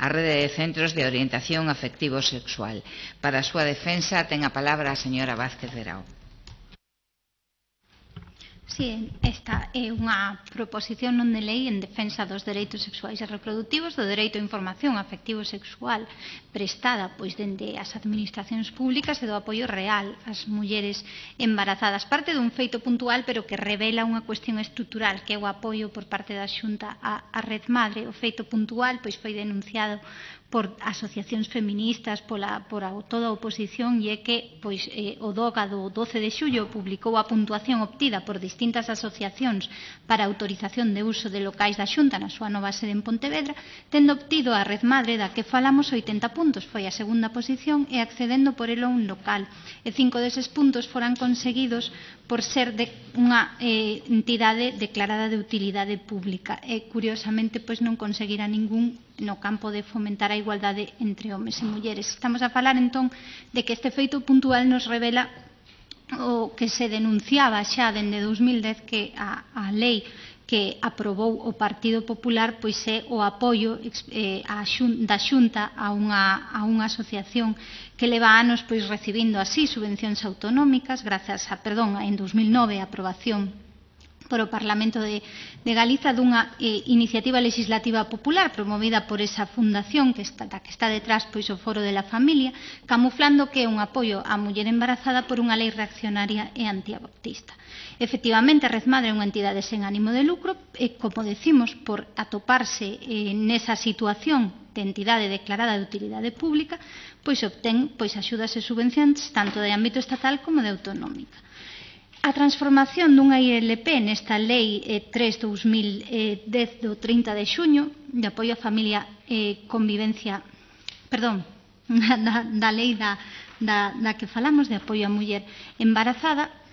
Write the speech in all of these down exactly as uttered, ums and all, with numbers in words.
a rede de centros de orientación afectivo-sexual. Para a súa defensa ten a palabra a señora Vázquez Verao. Si, esta é unha proposición non de lei en defensa dos dereitos sexuais e reproductivos, do dereito a información afectivo sexual prestada pois dende as administracións públicas e do apoio real ás mulleres embarazadas. Parte dun feito puntual, pero que revela unha cuestión estrutural, que é o apoio por parte da Xunta á, á Red Madre. O feito puntual pois foi denunciado por asociacións feministas, pola, por a, toda a oposición, e é que pois, eh, o DOGA do doce de xullo publicou a puntuación obtida por distintas asociacións para a autorización de uso de locais da Xunta na súa nova sede en Pontevedra, tendo obtido a Red Madre da que falamos oitenta puntos, foi a segunda posición, e accedendo por elo a un local. E cinco deses puntos foran conseguidos por ser de unha eh, entidade declarada de utilidade pública. E, curiosamente, pois non conseguira ningún no campo de fomentar a igualdade entre homes e mulleres. Estamos a falar, entón, de que este feito puntual nos revela o que se denunciaba xa dende dous mil dez, que a, a lei que aprobou o Partido Popular pois é o apoio eh, a xun, da Xunta a unha, a unha asociación que leva anos pois recibindo así subvencións autonómicas, grazas a, perdón, en dous mil nove a aprobación por o Parlamento de, de Galiza dunha eh, iniciativa legislativa popular promovida por esa fundación que está, que está detrás pois o Foro de la Familia, camuflando que é un apoio á muller embarazada por unha lei reaccionaria e antiabortista. Efectivamente, a Red Madre é unha entidade sen ánimo de lucro e, como decimos, por atoparse eh, nesa situación de entidade declarada de utilidade pública, pois obtén pois axudas e subvencións tanto de ámbito estatal como de autonómica. A transformación dunha I L P nesta Lei tres barra dous mil dez do trinta de xuño de apoio á familia e convivencia, perdón, da, da lei da, da, da que falamos de apoio á muller embarazada,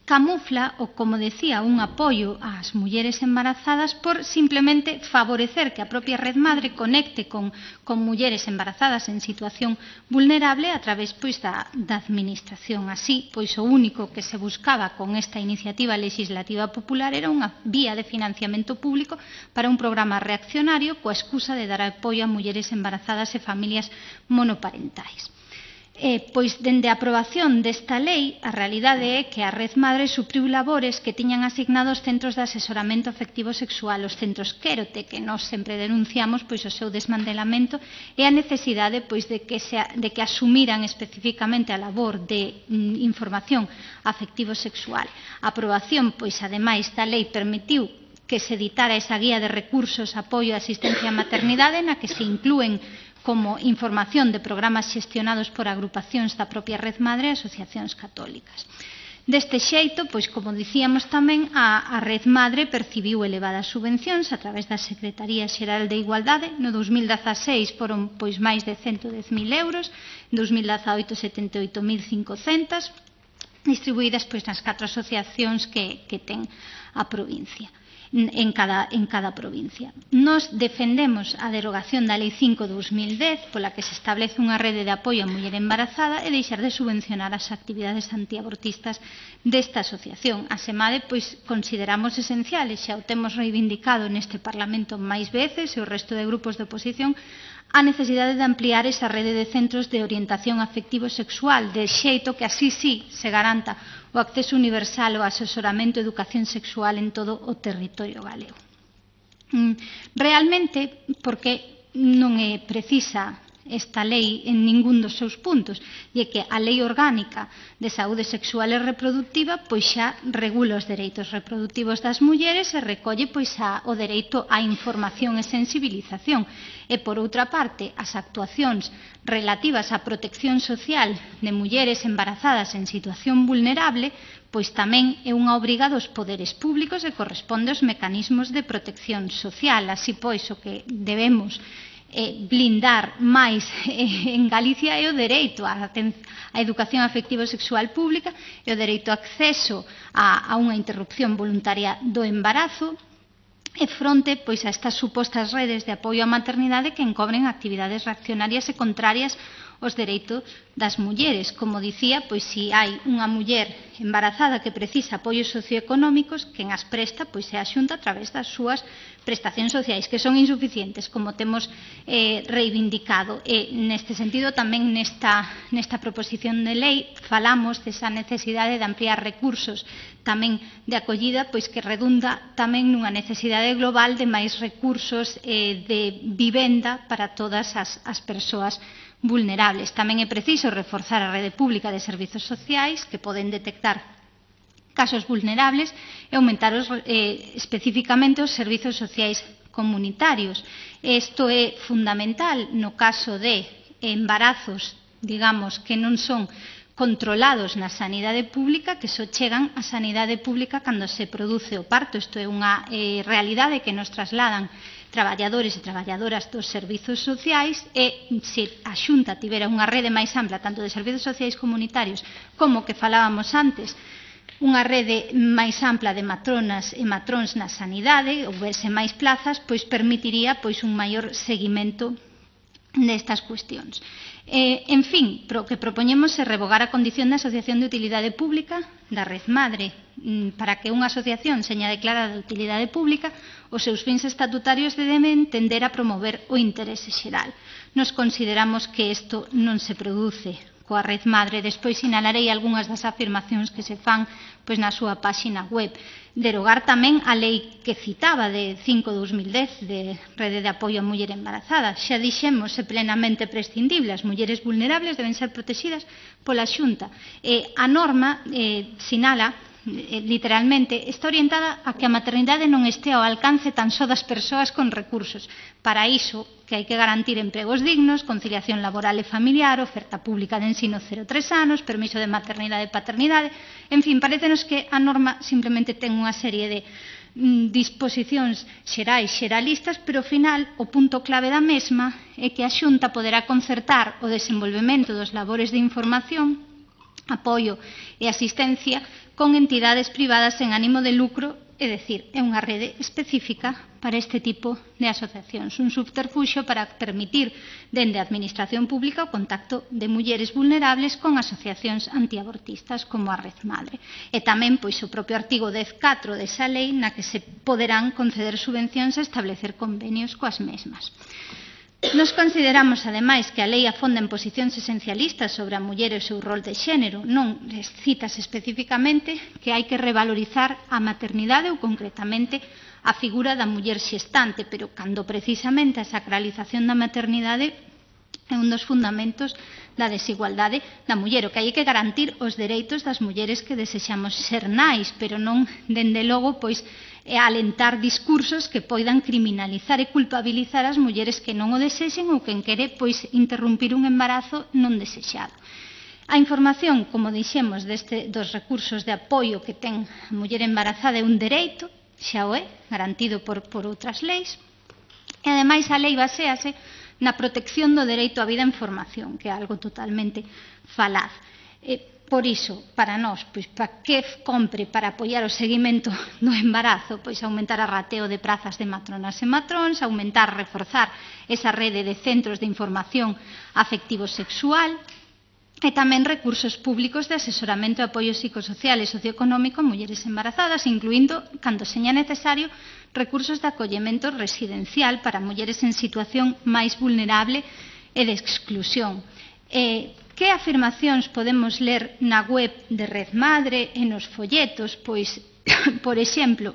camufla o, como decía, un apoio ás mulleres embarazadas por simplemente favorecer que a propia Red Madre conecte con, con mulleres embarazadas en situación vulnerable a través pois, da, da administración. Así, pois o único que se buscaba con esta iniciativa legislativa popular era unha vía de financiamento público para un programa reaccionario coa excusa de dar apoio a mulleres embarazadas e familias monoparentais. Eh, pois, dende a aprobación desta lei, a realidade é que a Red Madre supriu labores que tiñan asignados centros de asesoramento afectivo sexual, os centros Quérote, que nós sempre denunciamos pois, o seu desmantelamento e a necesidade pois, de, que se, de que asumiran especificamente a labor de mm, información afectivo sexual. A aprobación, pois, ademais, da lei permitiu que se editara esa guía de recursos, apoio e asistencia á maternidade, na que se inclúen como información de programas xestionados por agrupacións da propia Red Madre e asociacións católicas. Deste xeito, pois como dicíamos tamén, a, a Red Madre percibiu elevadas subvencións a través da Secretaría Xeral de Igualdade. No dous mil dezaseis foron pois máis de ciento dez mil euros, en dous mil dezaoito setenta e oito mil cincocentos, distribuídas pois nas catro asociacións que, que ten a provincia. En cada, en cada provincia. Nos defendemos a derogación da Lei cinco barra dous mil dez, pola que se establece unha rede de apoio á muller embarazada e deixar de subvencionar as actividades antiabortistas desta asociación. A SEMADE, pois, consideramos esenciales, xa o temos reivindicado neste Parlamento máis veces e o resto de grupos de oposición, a necesidade de ampliar esa rede de centros de orientación afectivo sexual, de xeito que así sí se garanta o acceso universal ao asesoramento e educación sexual en todo o territorio galego. Realmente, porque non é precisa esta lei en ningún dos seus puntos, e é que a Lei Orgánica de Saúde Sexual e Reproductiva pois xa regula os dereitos reproductivos das mulleres e recolle pois a, o dereito á información e sensibilización. E, por outra parte, as actuacións relativas á protección social de mulleres embarazadas en situación vulnerable pois tamén é unha obriga dos poderes públicos e corresponde aos mecanismos de protección social. Así pois, o que debemos Eh, blindar máis eh, en Galicia é o dereito á, á educación afectivo-sexual pública e o dereito a acceso a, a unha interrupción voluntaria do embarazo e fronte pois, a estas supostas redes de apoio á maternidade que encobren actividades reaccionarias e contrarias os dereitos das mulleres. Como dicía, pois se hai unha muller embarazada que precisa apoios socioeconómicos, quen as presta pois é a Xunta a través das súas prestacións sociais, que son insuficientes, como temos eh, reivindicado. E neste sentido, tamén nesta, nesta proposición de lei falamos desa necesidade de ampliar recursos tamén de acollida, pois que redunda tamén nunha necesidade global de máis recursos eh, de vivenda para todas as, as persoas vulnerables. Tamén é preciso reforzar a rede pública de servizos sociais que poden detectar casos vulnerables e aumentar os, eh, especificamente os servizos sociais comunitarios. Isto é fundamental no caso de embarazos, digamos, que non son controlados na sanidade pública, que só chegan á sanidade pública cando se produce o parto. Isto é unha eh, realidade que nos trasladan traballadores e traballadoras dos servizos sociais, e se a Xunta tivera unha rede máis ampla tanto de servizos sociais comunitarios como que falábamos antes, unha rede máis ampla de matronas e matróns na sanidade, houvese máis plazas, pois permitiría pois un maior seguimento destas cuestións. Eh, en fin, o que propoñemos é revogar a condición de asociación de utilidade pública da Red Madre. Para que unha asociación seña declarada de utilidade pública, os seus fins estatutarios deben tender a promover o interese xeral. Nos consideramos que isto non se produce coa Red Madre. Despois sinalarei algunhas das afirmacións que se fan pois na súa páxina web. Derogar tamén a lei que citaba de cinco barra dos mil dez de Rede de Apoio á Muller Embarazada. Xa dixemos, é plenamente prescindible. As mulleres vulnerables deben ser protegidas pola Xunta. E a norma eh, sinala literalmente, está orientada a que a maternidade non este ao alcance tan só das persoas con recursos. Para iso, que hai que garantir empregos dignos, conciliación laboral e familiar, oferta pública de ensino cero a tres anos, permiso de maternidade e paternidade. En fin, parécenos que a norma simplemente ten unha serie de mm, disposicións xerais, xeralistas, pero ao final o punto clave da mesma é que a Xunta poderá concertar o desenvolvemento dos labores de información, apoio e asistencia con entidades privadas sen ánimo de lucro, é dicir, é unha rede específica para este tipo de asociacións, un subterfuxio para permitir dende a Administración Pública o contacto de mulleres vulnerables con asociacións antiabortistas como a Red Madre. E tamén pois o propio artigo dez punto catro desa lei na que se poderán conceder subvencións e establecer convenios coas mesmas. Nos consideramos, ademais, que a lei afonda en posicións esencialistas sobre a muller e o seu rol de xénero. Non citas especificamente que hai que revalorizar a maternidade ou, concretamente, a figura da muller xestante, pero cando precisamente a sacralización da maternidade é un dos fundamentos da desigualdade da muller. O que hai que garantir os dereitos das mulleres que desexamos ser nais, pero non, dende logo, pois, e alentar discursos que poidan criminalizar e culpabilizar as mulleres que non o desexen ou quen quere pois interrumpir un embarazo non desexado. A información, como dixemos, deste, dos recursos de apoio que ten a muller embarazada é un dereito, xa o é, garantido por, por outras leis, e ademais a lei baséase na protección do dereito á vida en formación, que é algo totalmente falaz. E, Por iso, para nós, pois, para que compre para apoiar o seguimento do embarazo? Pois aumentar a rateo de prazas de matronas e matróns, aumentar, reforzar esa rede de centros de información afectivo-sexual e tamén recursos públicos de asesoramento e apoio psicosocial e socioeconómico a mulleres embarazadas, incluindo, cando seña necesario, recursos de acollemento residencial para mulleres en situación máis vulnerable e de exclusión. Eh, Que afirmacións podemos ler na web de Red Madre e nos folletos? Pois, por exemplo,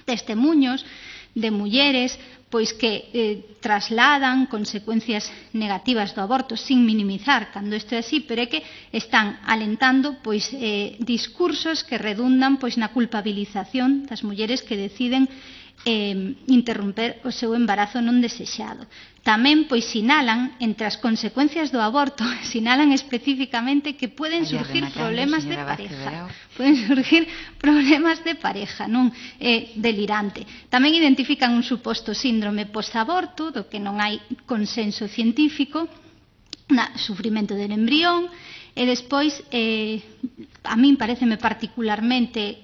testemuños de mulleres pois que eh, trasladan consecuencias negativas do aborto sin minimizar cando isto é así, pero é que están alentando pois eh, discursos que redundan pois na culpabilización das mulleres que deciden eh, interromper o seu embarazo non desexado. Tamén pois sinalan, entre as consecuencias do aborto, sinalan especificamente que poden surgir problemas de pareja. Poden surgir problemas de pareja, non é delirante. Tamén identifican un suposto síndrome postaborto, do que non hai consenso científico, na sufrimento del embrión, e despois, eh, a min pareceme particularmente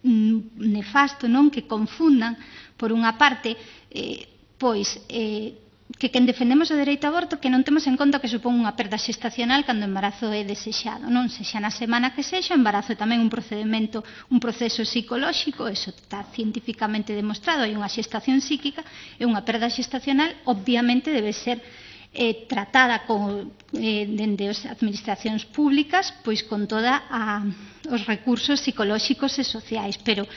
nefasto, non, que confundan, por unha parte, eh, pois, eh, que quen defendemos o dereito ao aborto que non temos en conta que supón unha perda xestacional cando o embarazo é desexado, non sexa na semana que sexa, o embarazo é tamén un procedimento, un proceso psicolóxico, eso está científicamente demostrado, hai unha xestación psíquica e unha perda xestacional obviamente debe ser eh, tratada con, eh, dende as administracións públicas pois con toda a, os recursos psicolóxicos e sociais, pero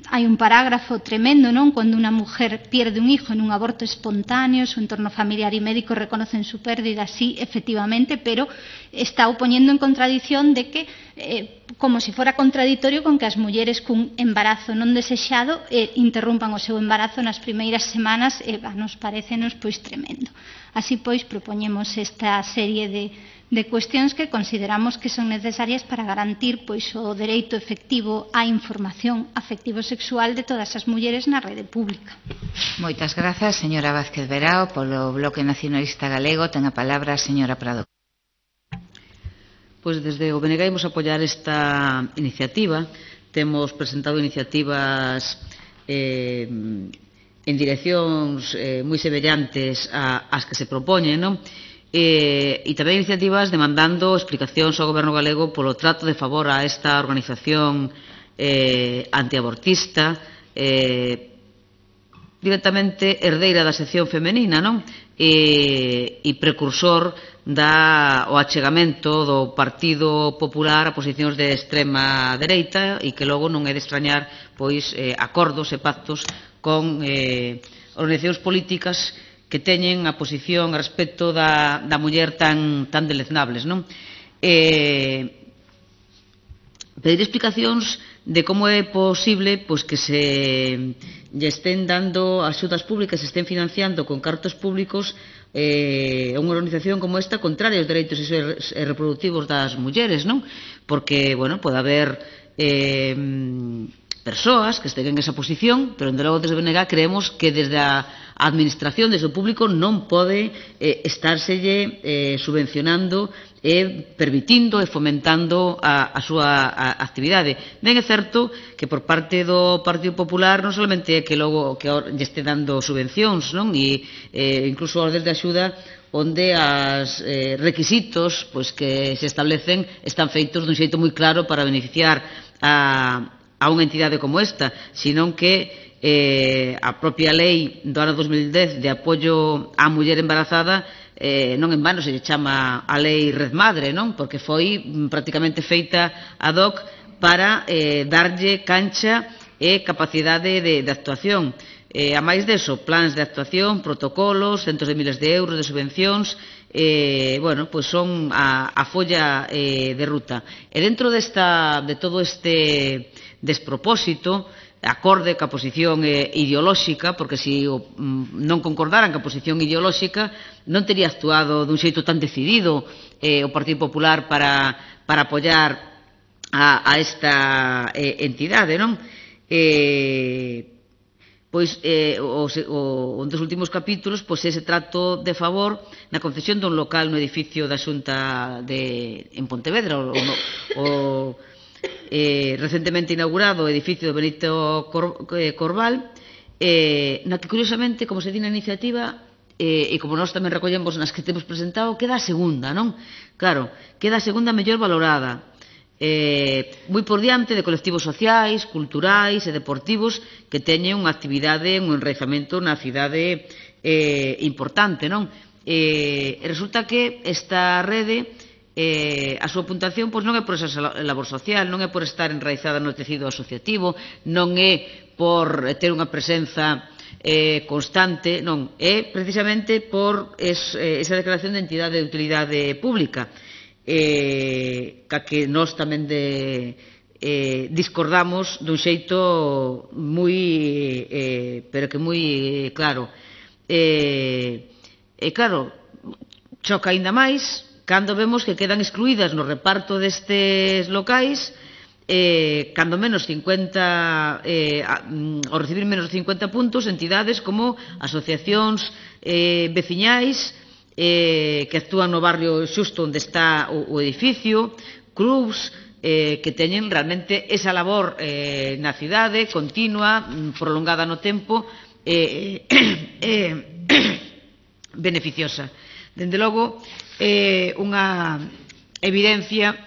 hai un parágrafo tremendo, non? Cando unha mujer pierde un hijo en un aborto espontáneo, su entorno familiar e médico reconocen su pérdida, sí, efectivamente, pero está opoñendo en contradición de que, eh, como se si fora contradictorio con que as mulleres cun embarazo non desexado eh, interrumpan o seu embarazo nas primeiras semanas, e eh, nos parecenos pois tremendo. Así pois propoñemos esta serie de de cuestións que consideramos que son necesarias para garantir pois o dereito efectivo á información afectivo-sexual de todas as mulleres na rede pública. Moitas grazas, señora Vázquez Verao. Polo Bloque Nacionalista Galego ten a palabra a señora Prado. Pois desde o B N G imos apoiar esta iniciativa. Temos presentado iniciativas eh, en direccións eh, moi semellantes ás que se propoñen, non? E, e tamén iniciativas demandando explicacións ao Goberno galego polo trato de favor a esta organización eh, antiabortista, eh, directamente herdeira da sección femenina, non? E, e precursor da o achegamento do Partido Popular a posicións de extrema dereita e que logo non é de extrañar pois eh, acordos e pactos con eh, organizacións políticas que teñen a posición respecto da, da muller tan, tan deleznables, non? Eh, pedir explicacións de como é posible pois, que se lle estén dando axudas públicas, se estén financiando con cartos públicos eh, unha organización como esta contraria aos dereitos reproductivos das mulleres, non? Porque, bueno, pode haber eh, persoas que estén en esa posición, pero, desde logo, desde B N G creemos que desde a administración, desde o público, non pode eh, estárselle eh, subvencionando e permitindo e fomentando a, a súa a, actividade. Ben é certo que por parte do Partido Popular non solamente é que logo que lle este dando subvencións, non? E eh, incluso ordes de axuda onde os eh, requisitos pois, que se establecen están feitos dun xeito moi claro para beneficiar a, a unha entidade como esta, senón que eh, a propia lei do ano dos mil dez de apoio á muller embarazada eh, non en vano se lle chama a lei Red Madre, non? Porque foi prácticamente feita ad hoc para eh, darlle cancha e capacidade de, de actuación. Eh, a máis deso, plans de actuación, protocolos, centos de miles de euros de subvencións, eh, bueno, pois son a, a folla eh, de ruta. E dentro desta, de todo este despropósito, acorde ca posición eh, ideolóxica, porque se o, non concordaran ca posición ideolóxica non tería actuado dun xeito tan decidido eh, o Partido Popular para, para apoiar a, a esta eh, entidade, non? Eh, pois eh, o, o, un dos últimos capítulos pois ese trato de favor na concesión dun local no edificio da Xunta de, en Pontevedra, o, o Eh, recentemente inaugurado o edificio do Benito Cor, eh, Corval, eh, na que curiosamente, como se di na iniciativa eh, e como nós tamén recollemos nas que temos presentado, queda a segunda, non? Claro, queda a segunda mellor valorada, eh, moi por diante de colectivos sociais, culturais e deportivos que teñen unha actividade, un enraizamento na cidade eh, importante, non? Eh, resulta que esta rede Eh, a súa puntuación pois, non é por esa labor social, non é por estar enraizada no tecido asociativo, non é por ter unha presenza eh, constante, non, é precisamente por es, eh, esa declaración de entidade de utilidade pública, eh, ca que nós tamén de, eh, discordamos dun xeito moi, eh, pero que moi claro. E, eh, eh, claro, choca aínda máis cando vemos que quedan excluídas no reparto destes locais eh, cando menos cincuenta eh, ao recibir menos de cincuenta puntos entidades como asociacións eh, veciñais eh, que actúan no barrio xusto onde está o, o edificio, clubs eh, que teñen realmente esa labor eh, na cidade continua, prolongada no tempo eh, eh, beneficiosa. Dende logo, é unha evidencia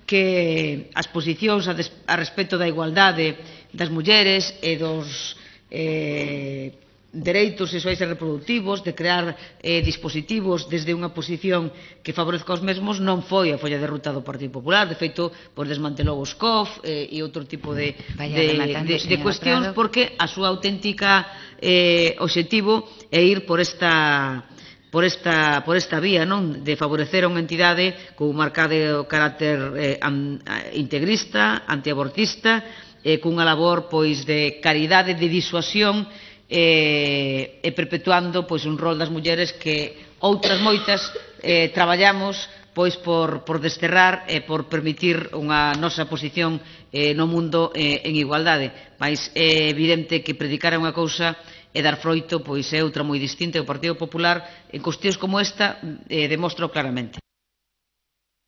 que as posicións a, des, a respecto da igualdade das mulleres e dos eh, dereitos sexuais e reproductivos, de crear eh, dispositivos desde unha posición que favorezca os mesmos, non foi a folla de ruta do Partido Popular. De feito, pois desmantelou os C O F eh, e outro tipo de, de, de, de cuestións, porque a súa auténtica eh, obxectivo é ir por esta por esta, por esta vía, non, de favorecer a unha entidade con un marcado carácter eh, an, integrista, antiabortista, eh, cunha labor pois de caridade, de disuasión, eh, e perpetuando pois un rol das mulleres que outras moitas eh, traballamos pois por, por desterrar e por permitir unha nosa posición eh, no mundo eh, en igualdade. Mais é evidente que predicar unha cousa e dar froito pois é outra moi distinta. O Partido Popular en cuestións como esta eh, demostra claramente.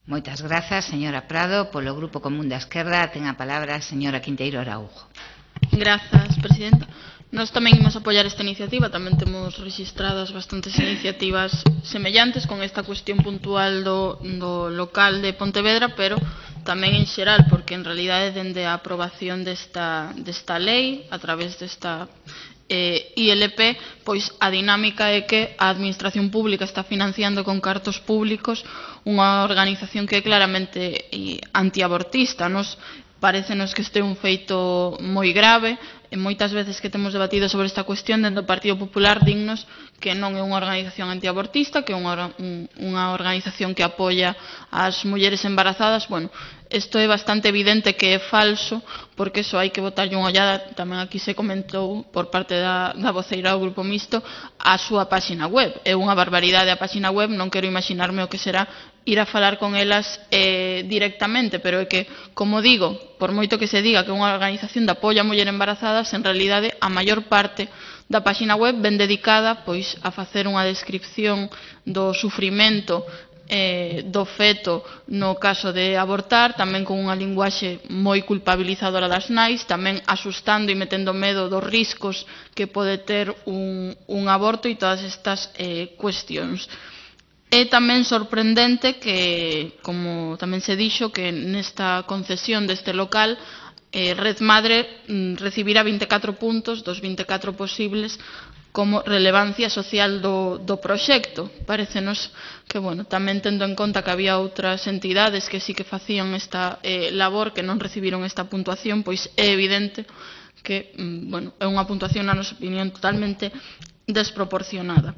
Moitas grazas, señora Prado. Polo Grupo Común da Esquerda ten a palabra a señora Quinteiro Araújo. Grazas, presidenta. Nós tamén imos apoiar esta iniciativa, tamén temos registradas bastantes iniciativas semellantes con esta cuestión puntual do, do local de Pontevedra, pero tamén en xeral, porque en realidade dende a aprobación desta, desta lei, a través desta eh, I L P, pois a dinámica é que a Administración Pública está financiando con cartos públicos unha organización que é claramente antiabortista. Nos parécenos que este é un feito moi grave, e moitas veces que temos debatido sobre esta cuestión dentro do Partido Popular dignos que non é unha organización antiabortista, que é unha, unha organización que apoia as mulleres embarazadas. Bueno, isto é bastante evidente que é falso, porque só hai que botarlle unha ollada, tamén aquí se comentou por parte da, da voceira do Grupo Mixto, a súa páxina web. É unha barbaridade a páxina web, non quero imaginarme o que será ir a falar con elas eh, directamente, pero é que, como digo, por moito que se diga que é unha organización de apoio a mulleres embarazadas, en realidade a maior parte da páxina web ven dedicada pois a facer unha descripción do sufrimento eh, do feto no caso de abortar, tamén con unha linguaxe moi culpabilizadora das nais, tamén asustando e metendo medo dos riscos que pode ter un, un aborto e todas estas eh, cuestións. É tamén sorprendente que, como tamén se dixo, que nesta concesión deste local eh, Red Madre mm, recibirá vinte e catro puntos dos vinte e catro posibles como relevancia social do, do proxecto. Parécenos que, bueno, tamén tendo en conta que había outras entidades que sí que facían esta eh, labor que non recibiron esta puntuación, pois é evidente que, mm, bueno, é unha puntuación, na nosa opinión, totalmente desproporcionada.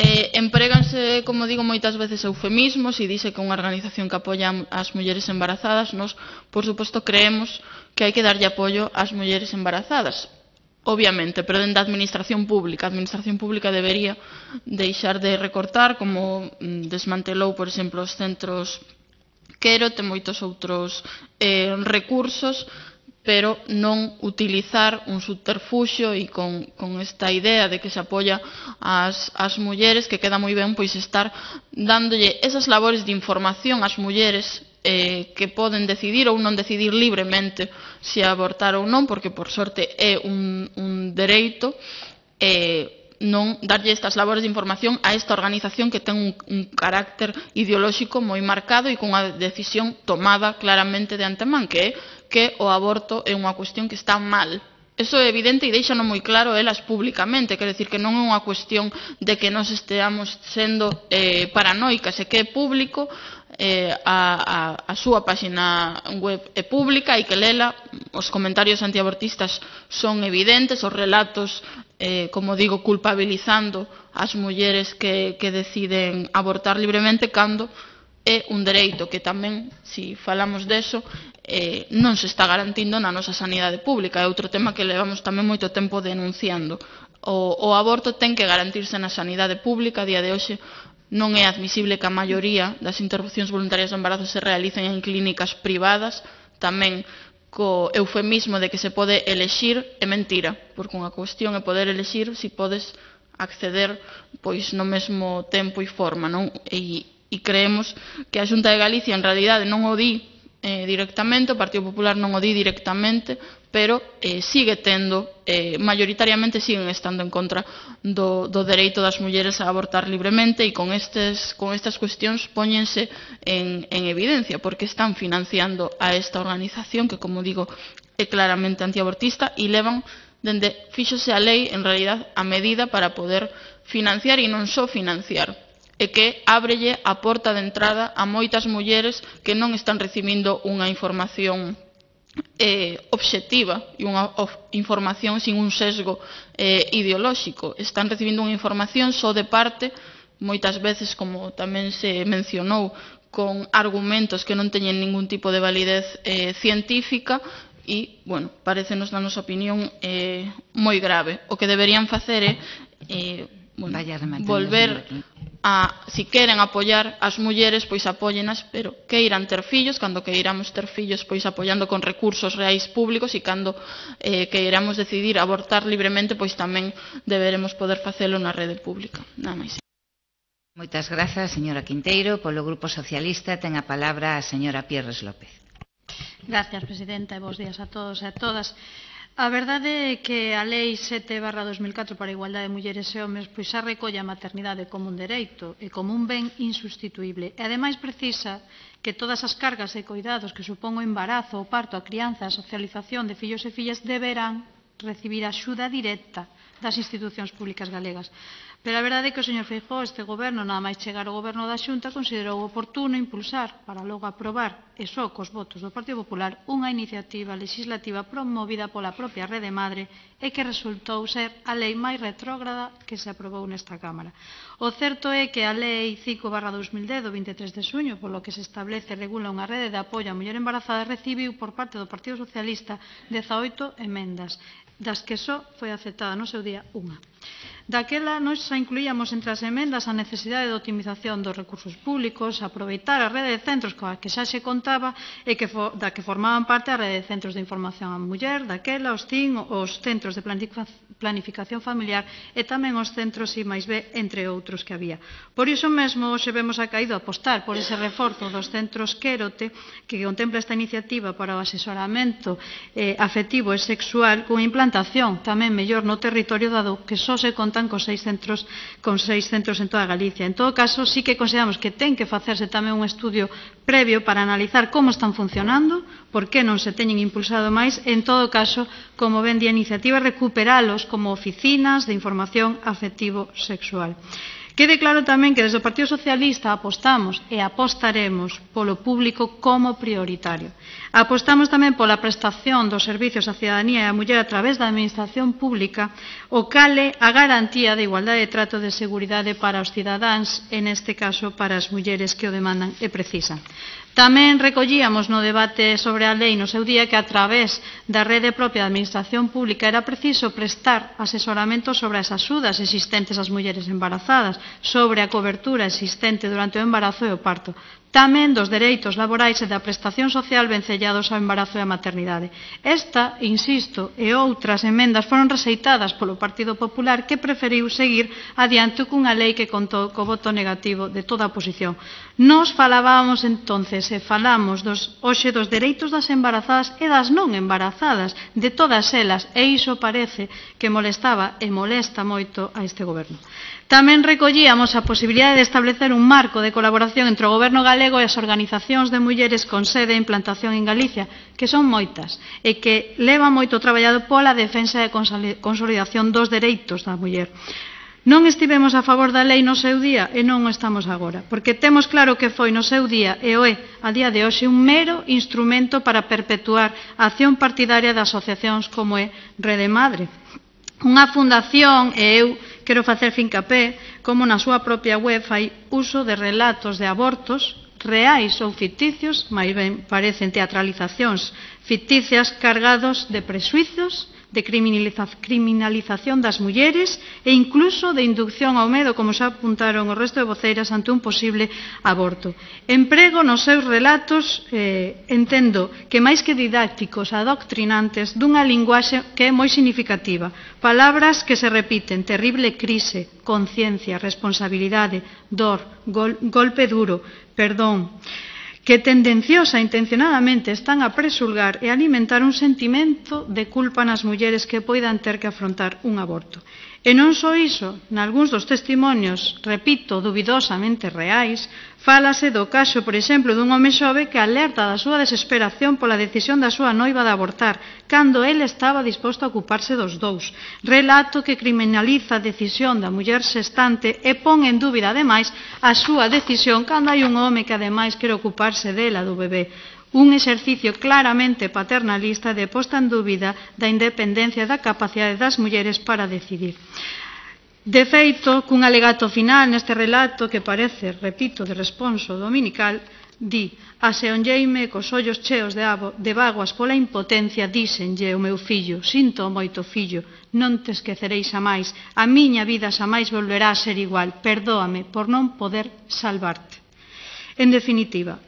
Eh, empréganse, como digo, moitas veces eufemismos e dice que unha organización que apoia as mulleres embarazadas. Nos, por suposto, creemos que hai que darlle apoio ás mulleres embarazadas, obviamente, pero dentro da administración pública. A administración pública debería deixar de recortar, como desmantelou, por exemplo, os centros Quero, ten moitos outros eh, recursos, pero non utilizar un subterfuxio e con, con esta idea de que se apoia ás, ás mulleres, que queda moi ben pois estar dándolle esas labores de información ás mulleres eh, que poden decidir ou non decidir libremente se abortar ou non, porque por sorte é un, un dereito, eh, non darlle estas labores de información a esta organización que ten un, un carácter ideolóxico moi marcado e con unha decisión tomada claramente de antemán, que é que o aborto é unha cuestión que está mal. Eso é evidente e deixano moi claro elas públicamente, quer decir que non é unha cuestión de que nos esteamos sendo eh, paranoicas, é que é público, eh, a, a, a súa páxina web é pública e que lela, os comentarios antiabortistas son evidentes, os relatos, eh, como digo, culpabilizando as mulleres que, que deciden abortar libremente, cando é un dereito que tamén, se si falamos deso, eh, non se está garantindo na nosa sanidade pública. É outro tema que levamos tamén moito tempo denunciando. O, o aborto ten que garantirse na sanidade pública. A día de hoxe non é admisible que a maioría das interrupcións voluntarias de embarazo se realicen en clínicas privadas, tamén co eufemismo de que se pode elexir. É mentira, porque unha cuestión é poder elexir se podes acceder pois no mesmo tempo e forma, non? E, e creemos que a Xunta de Galicia en realidade non o di eh, directamente, o Partido Popular non o di directamente, pero eh, sigue tendo, eh, mayoritariamente siguen estando en contra do, do dereito das mulleres a abortar libremente, e con, estes, con estas cuestións póñense en, en evidencia, porque están financiando a esta organización que, como digo, é claramente antiabortista, e levan, dende fíxose a lei, en realidad, a medida para poder financiar, e non só financiar, e que ábrelle a porta de entrada a moitas mulleres que non están recibindo unha información eh, obxectiva e unha información sin un sesgo eh, ideolóxico. Están recibindo unha información só de parte, moitas veces, como tamén se mencionou, con argumentos que non teñen ningún tipo de validez eh, científica, e, bueno, parecenos, na nosa opinión, eh, moi grave. O que deberían facer é eh, bueno, volver a, si queren apoiar as mulleres, pois apóyenas, pero que irán ter fillos, cando que iramos ter fillos, pois apoiando con recursos reais públicos, e cando eh, que iramos decidir abortar libremente, pois tamén deberemos poder facelo na rede pública. Nada máis. Moitas grazas, señora Quinteiro. Polo Grupo Socialista ten a palabra a señora Pierres López. Gracias, presidenta, e bos días a todos e a todas. A verdade é que a Lei sete barra dos mil catro para a igualdade de mulleres e homes pois xa recolle a maternidade como un dereito e como un ben insustituíble. E ademais precisa que todas as cargas e coidados que supón o embarazo, o parto, a crianza, a socialización de fillos e fillas deberán recibir axuda directa das institucións públicas galegas. Pero a verdade é que o señor Feijóo, este goberno, nada máis chegar ao goberno da Xunta, considerou oportuno impulsar, para logo aprobar, e só cos votos do Partido Popular, unha iniciativa legislativa promovida pola propia Rede Madre e que resultou ser a lei máis retrógrada que se aprobou nesta Cámara. O certo é que a Lei cinco barra dos mil dez, do vinte e tres de xuño, polo que se establece e regula unha rede de apoio á muller embarazada, recibiu por parte do Partido Socialista dezaoito emendas, das que só foi aceptada no seu día unha. Daquela, nós xa incluíamos entre as emendas a necesidade de optimización dos recursos públicos, aproveitar a rede de centros coa que xa se contaba e que for, da que formaban parte a rede de centros de información á muller, daquela, os C I N, os centros de planificación familiar e tamén os centros I máis B, entre outros que había. Por iso mesmo, hoxe vemos acaído apostar por ese reforzo dos centros Quérote, que contempla esta iniciativa para o asesoramento eh, afectivo e sexual, con implantación tamén mellor no territorio, dado que só se contan con seis centros con seis centros en toda Galicia. En todo caso, sí que consideramos que ten que facerse tamén un estudio previo para analizar como están funcionando, por que non se teñen impulsado máis, en todo caso, como ven di a iniciativa, recuperalos como oficinas de información afectivo sexual. Quede claro tamén que desde o Partido Socialista apostamos e apostaremos polo público como prioritario. Apostamos tamén pola prestación dos servicios á cidadanía e á muller a través da administración pública, o cale a garantía de igualdade de trato de seguridade para os cidadáns, en este caso para as mulleres que o demandan e precisan. Tamén recollíamos no debate sobre a lei no seu día que a través da rede propia de administración pública era preciso prestar asesoramento sobre as axudas existentes ás mulleres embarazadas, sobre a cobertura existente durante o embarazo e o parto, tamén dos dereitos laborais e da prestación social vencellados ao embarazo e a maternidade. Esta, insisto, e outras emendas foron rexeitadas polo Partido Popular, que preferiu seguir adiante cunha lei que contou co voto negativo de toda a oposición. Nos falábamos entonces e falamos dos, hoxe dos dereitos das embarazadas e das non embarazadas, de todas elas, e iso parece que molestaba e molesta moito a este goberno. Tamén recollíamos a posibilidade de establecer un marco de colaboración entre o goberno galego e as organizacións de mulleres con sede e implantación en Galicia, que son moitas, e que leva moito traballado pola defensa e consolidación dos dereitos da muller. Non estivemos a favor da lei no seu día e non o estamos agora, porque temos claro que foi no seu día e o é, a día de hoxe, un mero instrumento para perpetuar a acción partidaria de asociacións como é Rede Madre. Unha fundación, e eu quero facer fincapé, como na súa propia web fai uso de relatos de abortos reais ou ficticios, máis ben parecen teatralizacións ficticias cargados de prexuizos, de criminalización das mulleres e incluso de inducción ao medo, como xa apuntaron o resto de voceiras, ante un posible aborto. Emprego nos seus relatos, eh, entendo que máis que didácticos, adoctrinantes, dunha linguaxe que é moi significativa. Palabras que se repiten: terrible crise, conciencia, responsabilidade, dor, gol, golpe duro, perdón, que tendenciosa e intencionadamente están a presulgar e alimentar un sentimento de culpa nas mulleres que poidan ter que afrontar un aborto. E non só iso, nalgúns dos testimonios, repito, duvidosamente reais, fálase do caso, por exemplo, dun home xove que alerta da súa desesperación pola decisión da súa noiva de abortar, cando ele estaba disposto a ocuparse dos dous. Relato que criminaliza a decisión da muller xestante e pon en dúbida, ademais, a súa decisión cando hai un home que, ademais, quere ocuparse dela, do bebé. Un exercicio claramente paternalista de posta en dúbida da independencia e da capacidade das mulleres para decidir. De feito, cun alegato final neste relato que parece, repito, de responso dominical, di: aseonlleime cos ollos cheos de, de vaguas pola impotencia, díxenlle o meu fillo, sinto moito fillo, non te esquecereis xamais, a miña vida xamais volverá a ser igual, perdóame por non poder salvarte. En definitiva,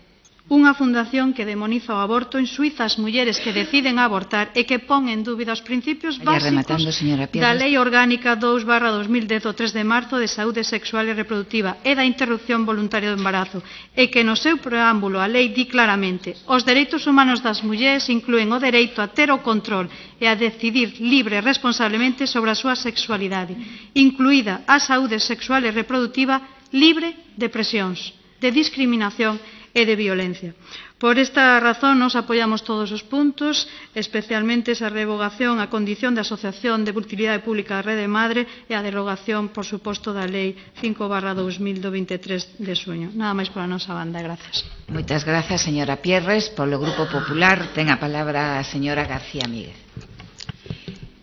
unha fundación que demoniza o aborto, en Suiza as mulleres que deciden abortar e que pon en dúbida os principios básicos da Lei Orgánica dous barra dos mil dez do tres de marzo de Saúde Sexual e Reproductiva e da interrupción voluntaria do embarazo, e que no seu preámbulo a lei di claramente: os dereitos humanos das mulleres incluen o dereito a ter o control e a decidir libre e responsablemente sobre a súa sexualidade, incluída a saúde sexual e reproductiva libre de presións, de discriminación e de violencia. Por esta razón, nos apoiamos todos os puntos, especialmente esa revogación a condición de asociación de utilidade pública da Rede Madre e a derogación, por suposto, da Lei cinco barra dos mil do veintitrés de xuño. Nada máis pola nosa banda. Grazas. Moitas grazas, señora Pierres. Polo Grupo Popular, ten a palabra a señora García Míguez.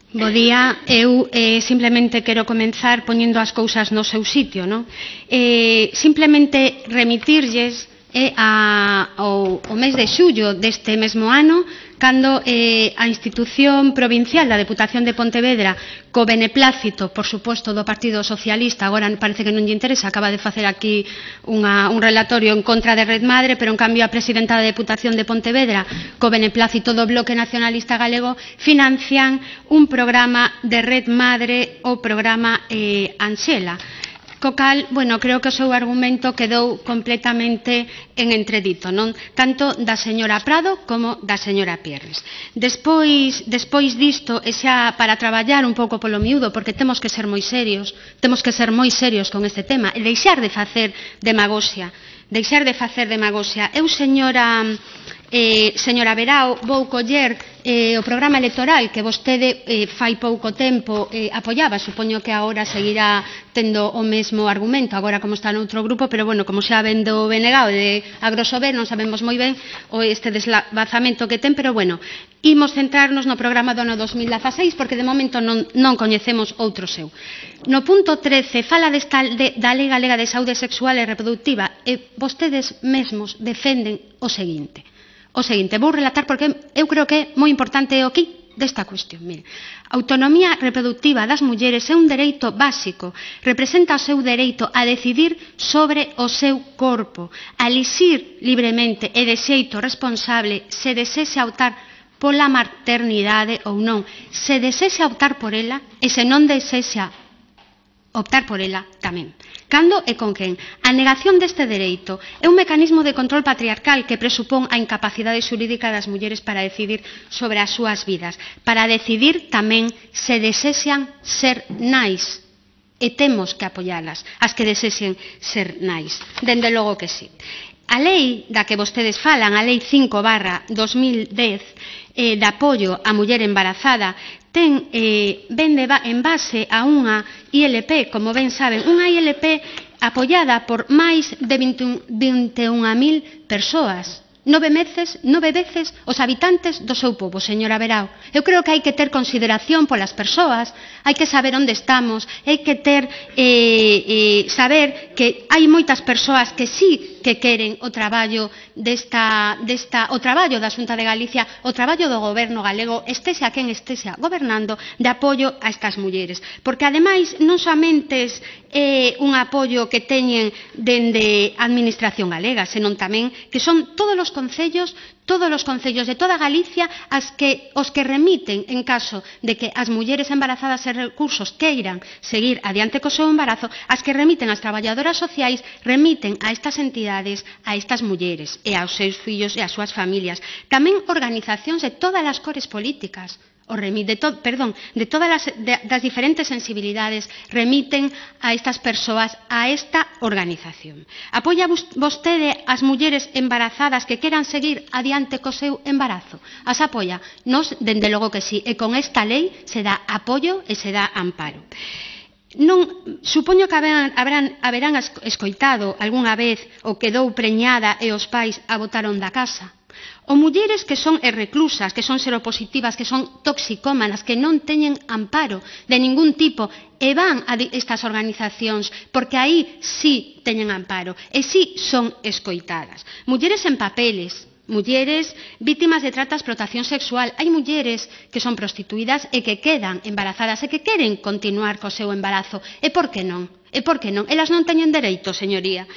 Bo día, eu eh, simplemente quero comenzar poñendo as cousas no seu sitio, non? Eh, simplemente remitirlles eh, a, ao, ao mes de xullo deste mesmo ano, cando eh, a institución provincial da Deputación de Pontevedra, co beneplácito, por suposto, do Partido Socialista, agora parece que non lle interesa, acaba de facer aquí unha, un relatorio en contra de Red Madre, pero en cambio a presidenta da Deputación de Pontevedra, co beneplácito do Bloque Nacionalista Galego, financian un programa de Red Madre, o programa eh, Anxela. Co cal, bueno, creo que o seu argumento quedou completamente en entredito, non? Tanto da señora Prado como da señora Pierres. Despois, despois disto, e xa para traballar un pouco polo miúdo, porque temos que ser moi serios, temos que ser moi serios con este tema, e deixar de facer demagoxia, deixar de facer demagoxia. Eu, señora... Eh, señora Verao, vou coller eh, o programa electoral que vostede eh, fai pouco tempo eh, apoiaba, supoño que agora seguirá tendo o mesmo argumento, agora como está noutro grupo, pero bueno, como xa vendo Benegao de Agrosober, non sabemos moi ben o este deslavazamento que ten, pero bueno, imos centrarnos no programa do ano dos mil dezaseis, porque de momento non, non coñecemos outro seu. No punto trece fala desta, de, da Lei Galega de Saúde Sexual e Reproductiva, e vostedes mesmos defenden o seguinte. O seguinte, vou relatar porque eu creo que é moi importante o aquí desta cuestión. Mire, a autonomía reproductiva das mulleres é un dereito básico, representa o seu dereito a decidir sobre o seu corpo, a elixir libremente e de xeito responsable se desexa optar pola maternidade ou non, se desexa optar por ela e se non desexa optar por ela tamén. Cando e con quen? A negación deste dereito é un mecanismo de control patriarcal que presupón a incapacidade xurídica das mulleres para decidir sobre as súas vidas, para decidir tamén se desexan ser nais, e temos que apoialas, as que desexen ser nais. Dende logo que sí. A lei da que vostedes falan, a lei cinco barra dos mil dez, eh, de apoio á muller embarazada, ten, eh, ben de ba en base a unha I L P, como ben saben, unha I L P apoiada por máis de vinte e un mil persoas, nove veces, nove veces os habitantes do seu pobo, señora Verao. Eu creo que hai que ter consideración polas persoas, hai que saber onde estamos, hai que ter, eh, eh, saber que hai moitas persoas que sí que queren o traballo desta, desta, o traballo da Xunta de Galicia, o traballo do goberno galego, estexa quen estexa gobernando, de apoio a estas mulleres. Porque, ademais, non somente é eh, un apoio que teñen dende a Administración galega, senón tamén que son todos os concellos, todos os concellos de toda Galicia, as que, os que remiten en caso de que as mulleres embarazadas e recursos queiran seguir adiante co seu embarazo, as que remiten as traballadoras sociais remiten a estas entidades, a estas mulleres e aos seus fillos e ás súas familias. Tamén organizacións de todas as cores políticas, o remite, de to, perdón, de todas as de, das diferentes sensibilidades remiten a estas persoas a esta organización. Apoia vostede as mulleres embarazadas que queran seguir adiante co seu embarazo? As apoia? Nos, dende logo que sí, e con esta lei se dá apoio e se dá amparo. Non, supoño que haberán, haberán, haberán escoitado algunha vez o quedou preñada e os pais a botaron da casa. O mulleres que son reclusas, que son seropositivas, que son toxicómanas, que non teñen amparo de ningún tipo e van a estas organizacións porque aí sí teñen amparo e sí son escoitadas. Mulleres en papeles, mulleres vítimas de trata e explotación sexual. Hai mulleres que son prostituídas e que quedan embarazadas e que queren continuar co seu embarazo. E por que non? E por que non? Elas non teñen dereito, señoría.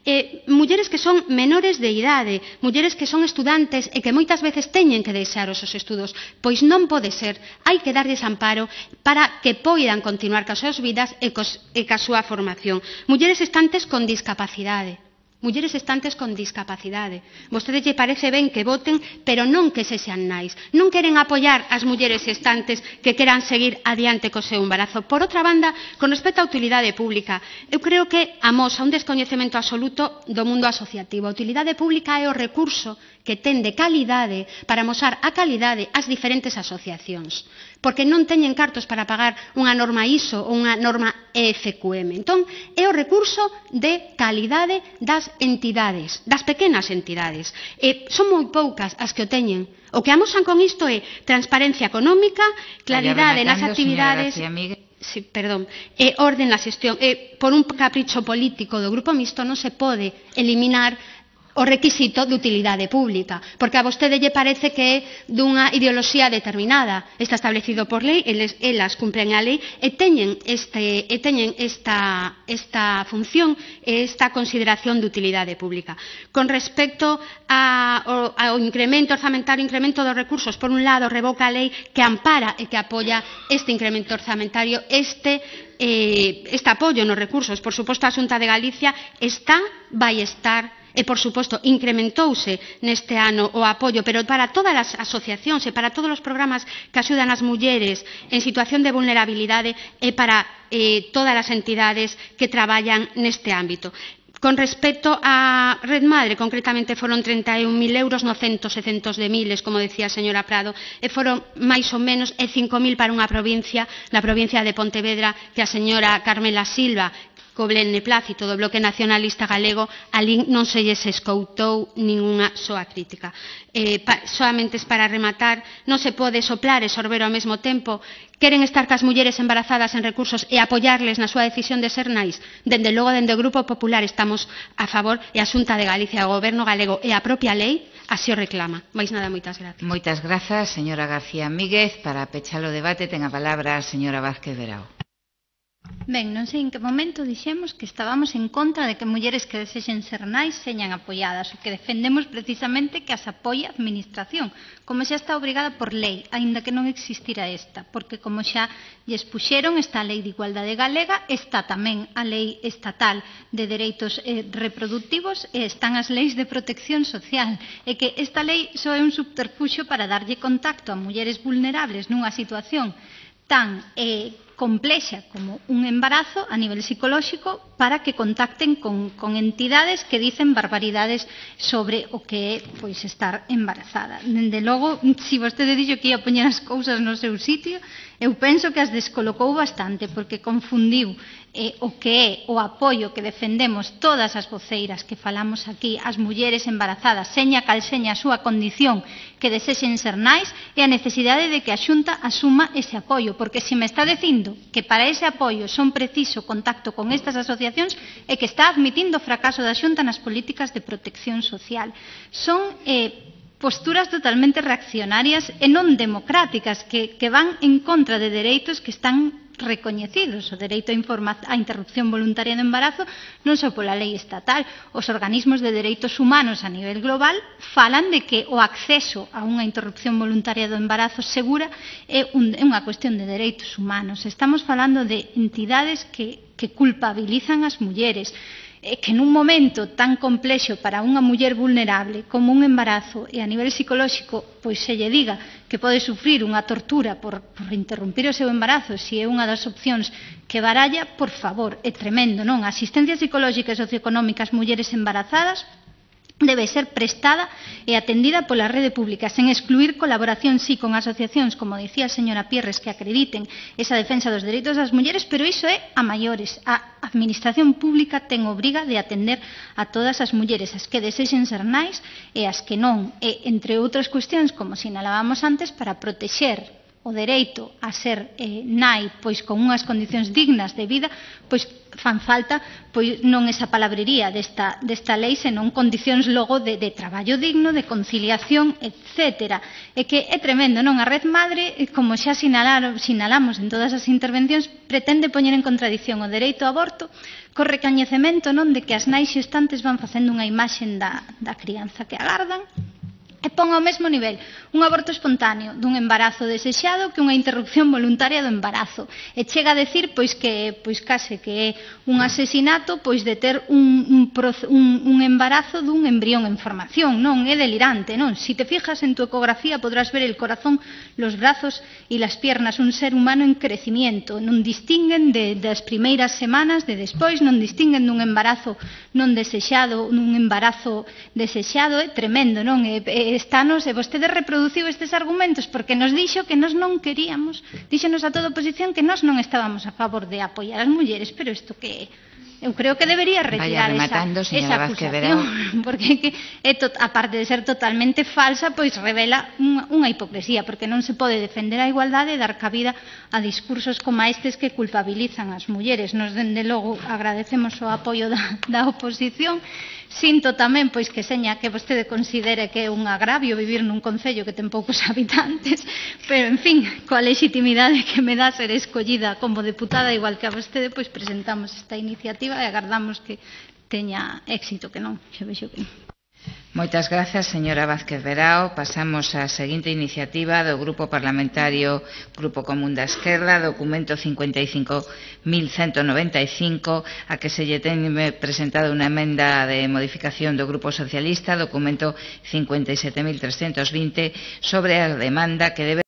Eh, mulleres que son menores de idade, mulleres que son estudantes e que moitas veces teñen que deixar os seus estudos, pois non pode ser, hai que darlles amparo para que poidan continuar cas súas vidas e, cos, e ca súa formación. Mulleres estantes con discapacidade, mulleres estantes con discapacidade. Vostede lle parece ben que voten, pero non que se sean nais. Non queren apoiar as mulleres estantes que queran seguir adiante co seu embarazo. Por outra banda, con respecto á utilidade pública, eu creo que amosa un descoñecemento absoluto do mundo asociativo. A utilidade pública é o recurso que ten de calidade para amosar a calidade ás diferentes asociacións, porque non teñen cartos para pagar unha norma I S O ou unha norma E F Q M. Entón, é o recurso de calidade das entidades, das pequenas entidades. E son moi poucas as que o teñen. O que amosan con isto é transparencia económica, claridade nas actividades... Sí, perdón, e orden na xestión. E por un capricho político do Grupo Mixto non se pode eliminar o requisito de utilidade pública, porque a vostede lle parece que é dunha ideoloxía determinada, está establecido por lei, eles, elas cumpren a lei e teñen, este, e teñen esta, esta función e esta consideración de utilidade pública. Con respecto a, ao, ao incremento orzamentario, incremento dos recursos, por un lado revoca a lei que ampara e que apoia este incremento orzamentario, este eh, este apoio nos recursos. Por suposto, a Xunta de Galicia está, vai estar e, por suposto, incrementouse neste ano o apoio, pero para todas as asociacións e para todos os programas que axudan as mulleres en situación de vulnerabilidade e para eh, todas as entidades que traballan neste ámbito. Con respecto á Red Madre, concretamente foron trinta e un mil euros no centos e centos de miles, como decía a señora Prado, e foron máis ou menos e cinco mil para unha provincia, na provincia de Pontevedra, que a señora Carmela Silva, co beneplácito do Bloque Nacionalista Galego, alí non se lles escoutou ningunha soa crítica. Eh, pa, solamente para rematar, non se pode soplar e sorber ao mesmo tempo. Queren estar cas mulleres embarazadas en recursos e apoiarles na súa decisión de ser nais? Dende logo, dende o Grupo Popular estamos a favor, e a Xunta de Galicia, o Goberno galego e a propia lei así o reclama. Mais nada, moitas gracias. Moitas grazas, señora García Míguez. Para pechar o debate ten a palabra a señora Vázquez Verao. Ben, non sei en que momento dixemos que estábamos en contra de que mulleres que desexen ser nais señan apoiadas, o que defendemos precisamente que as apoie a administración, como xa está obrigada por lei, aínda que non existira esta, porque como xa lles puxeron, está a Lei de Igualdade Galega, está tamén a Lei Estatal de Dereitos eh, Reproductivos e están as leis de protección social, e que esta lei só é un subterfuxio para darlle contacto a mulleres vulnerables nunha situación tan eh, complexa como un embarazo a nivel psicolóxico para que contacten con, con entidades que dicen barbaridades sobre o que é pois, estar embarazada. Dende logo, se vostede dixo que ia poñer as cousas no seu sitio, eu penso que as descolocou bastante, porque confundiu eh, o que é o apoio que defendemos todas as voceiras que falamos aquí, as mulleres embarazadas, seña cal seña a súa condición que desexen ser nais, e a necesidade de que a Xunta asuma ese apoio, porque se me está dicindo que para ese apoio son preciso contacto con estas asociacións e que está admitindo o fracaso da Xunta nas políticas de protección social. Son eh, posturas totalmente reaccionarias e non democráticas que, que van en contra de dereitos que están recoñecidos. O dereito á interrupción voluntaria do embarazo non só pola lei estatal, os organismos de dereitos humanos a nivel global falan de que o acceso a unha interrupción voluntaria do embarazo segura é unha cuestión de dereitos humanos. Estamos falando de entidades que, que culpabilizan as mulleres, que nun momento tan complexo para unha muller vulnerable como un embarazo e a nivel psicolóxico pois se lle diga que pode sufrir unha tortura por, por interrumpir o seu embarazo se é unha das opcións que baralla, por favor, é tremendo, non? A asistencia psicolóxica e socioeconómica ás mulleres embarazadas debe ser prestada e atendida pola rede pública, sen excluir colaboración, sí, con asociacións, como dicía a señora Pierres, que acrediten esa defensa dos dereitos das mulleres, pero iso é a maiores. A administración pública ten obriga de atender a todas as mulleres, as que desexen ser nais e as que non, e, entre outras cuestións, como sinalábamos antes, para protexer o dereito a ser eh, nai pois con unhas condicións dignas de vida, pois fan falta pois non esa palabrería desta, desta lei, senón condicións logo de, de traballo digno, de conciliación, etcétera. E que é tremendo, non? A Red Madre, como xa sinalaron, sinalamos en todas as intervencións, pretende poñer en contradición o dereito ao aborto co recoñecemento, non, de que as nais xestantes van facendo unha imaxe da, da crianza que agardan, e pon ao mesmo nivel un aborto espontáneo dun embarazo desexado que unha interrupción voluntaria do embarazo. E chega a decir pois que pois case que é un asesinato pois de ter un, un, un, un embarazo dun embrión en formación, non? É delirante, non? Si te fijas en tu ecografía podrás ver el corazón, los brazos y las piernas, un ser humano en crecimiento. Non distinguen de, das primeiras semanas, de despois, non distinguen dun embarazo non desexado, nun embarazo desexado. É tremendo, non? É, é Estanos, e vostede reproduciu estes argumentos porque nos dixo que nós non queríamos, díxonos a toda a oposición que nós non estábamos a favor de apoiar as mulleres, pero isto que eu creo que debería retirar rematando, esa, esa acusación, porque que é tot, aparte de ser totalmente falsa, pois revela unha, unha hipocresía, porque non se pode defender a igualdade e dar cabida a discursos como estes que culpabilizan as mulleres. Nos, dende logo, agradecemos o apoio da, da oposición. Sinto tamén pois que seña que vostede considere que é un agravio vivir nun concello que ten poucos habitantes, pero en fin, coa legitimidade que me dá ser escollida como deputada igual que a vostede, pois presentamos esta iniciativa e agardamos que teña éxito, que non, xa vexo que non. Moitas grazas, señora Vázquez Verao. Pasamos á seguinte iniciativa do Grupo Parlamentario Grupo Común da Esquerda, documento cincuenta y cinco mil ciento noventa y cinco, a que se lle ten presentado unha emenda de modificación do Grupo Socialista, documento cincuenta y siete mil trescientos veinte, sobre a demanda que debe